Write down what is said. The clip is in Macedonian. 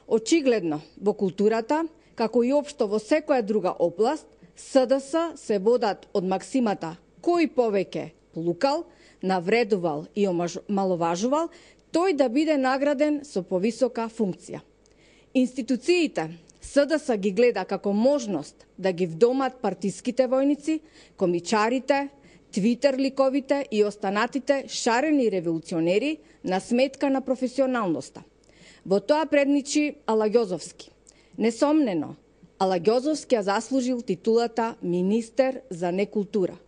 Очигледно, во културата, како и општо во секоја друга област, СДС се водат од максимата кој повеќе плукал, навредувал и омаловажувал, тој да биде награден со повисока функција. Институциите СДС ги гледа како можност да ги вдомат партиските војници, комичарите, твитер ликовите и останатите шарени револуционери на сметка на професионалноста. Во тоа предничи Алагјозовски. Несомнено, Алагјозовски ја заслужил титулата министер за некултура.